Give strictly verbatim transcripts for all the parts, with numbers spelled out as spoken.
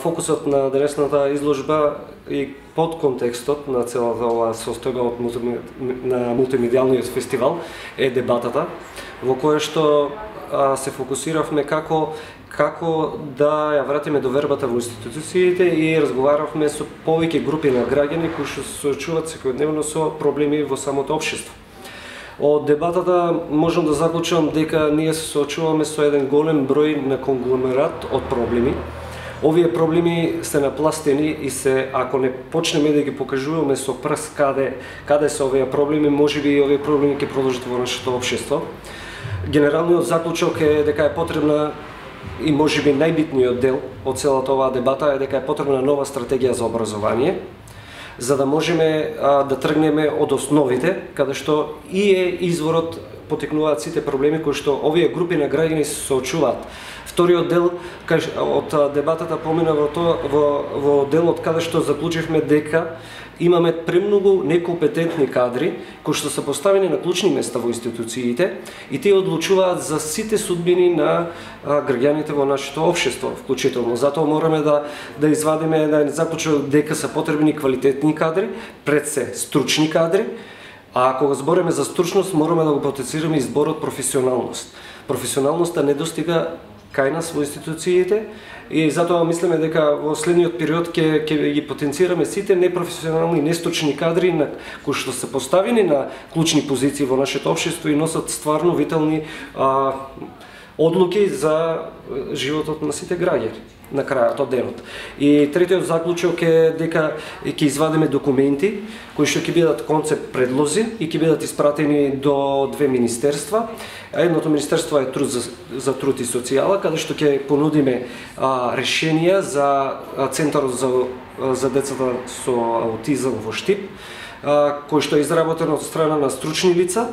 Фокусот на денешната изложба и под контекстот на целата оваа состојба од мулти... на мултимедијалниот фестивал е дебатата, во која што а, се фокусиравме како како да ја вратиме довербата во институциите и разговаравме со повеќе групи на граѓани кои што се соочуваат секојдневно со проблеми во самото општество. Од дебатата можам да заклучам дека ние се соочуваме со еден голем број на конгломерат од проблеми. Овие проблеми се напластени и се, ако не почнеме да ги покажуваме со прст каде каде се овие проблеми, можеби и овие проблеми ќе продолжат во нашето општество. Генералниот заклучок е дека е потребна и можеби најбитниот дел од целата оваа дебата е дека е потребна нова стратегија за образование, за да можеме а, да тргнеме од основите, каде што и е изворот потекнуваат сите проблеми кои што овие групи на граѓани се соочуваат. Вториот дел од дебатата помина во тоа во, во делот каде што заклучивме дека имаме премногу некомпетентни кадри кои што се поставени на клучни места во институциите и тие одлучуваат за сите судбини на а, граѓаните во нашето општество вклучително. Затоа мораме да да извадиме да заклучок дека се потребни квалитетни кадри, пред се стручни кадри. А кога збориме за стручност, мораме да го потенцираме и зборот професионалност. Професионалноста не достига кај нас во институциите и затоа мислиме дека во следниот период ќе ќе ги потенцираме сите непрофесионални и нестручни кадри на кои што се поставени на клучни позиции во нашето општество и носат стварно витални а, одлуки за животот на сите граѓани на крајот од денот. И третиот заклучок е дека ќе извадиме документи кои што ќе бидат концепт предлози и ќе бидат испратени до две министерства. Едното министерство е труд за, за труд и социјала, каде што ќе понудиме а, решенија за а, Центарот за, за децата со аутизам во Штип, а, кој што е изработен од страна на стручни лица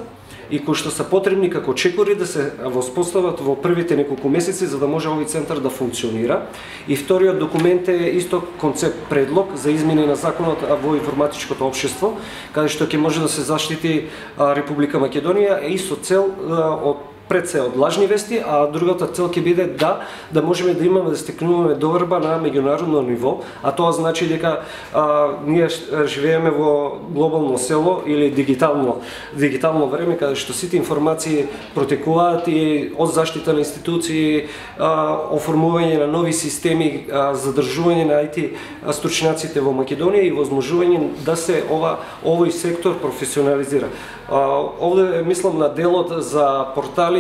и кои што се потребни како чекори да се воспостават во првите неколку месеци за да може овој центар да функционира. И вториот документ е исто концепт предлог за измени на законот во информатичкото општество, каде што ќе може да се заштити Република Македонија и со цел од пред се од лажни вести, а другата цел ќе биде да да можеме да имаме да стекнуваме доверба на меѓународно ниво, а тоа значи дека а, ние живееме во глобално село или дигитално дигитално време каде што сите информации протекуваат и од заштита на институции, а, оформување на нови системи, а, задржување на ай ти стручњаците во Македонија и возможување да се ова овој сектор професионализира. А, овде мислам на делот за портали,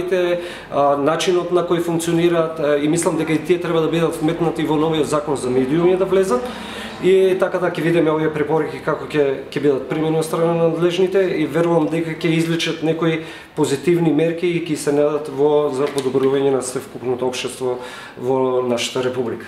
начинот на кој функционираат и мислам дека и тие треба да бидат вметнати во новиот закон за медиуми да влезат и така да ќе видиме овие препораки како ќе ќе бидат применени од страна на надлежните и верувам дека ќе изличат некои позитивни мерки и ќе се најдат во за подобрување на севкупното општество во нашата република.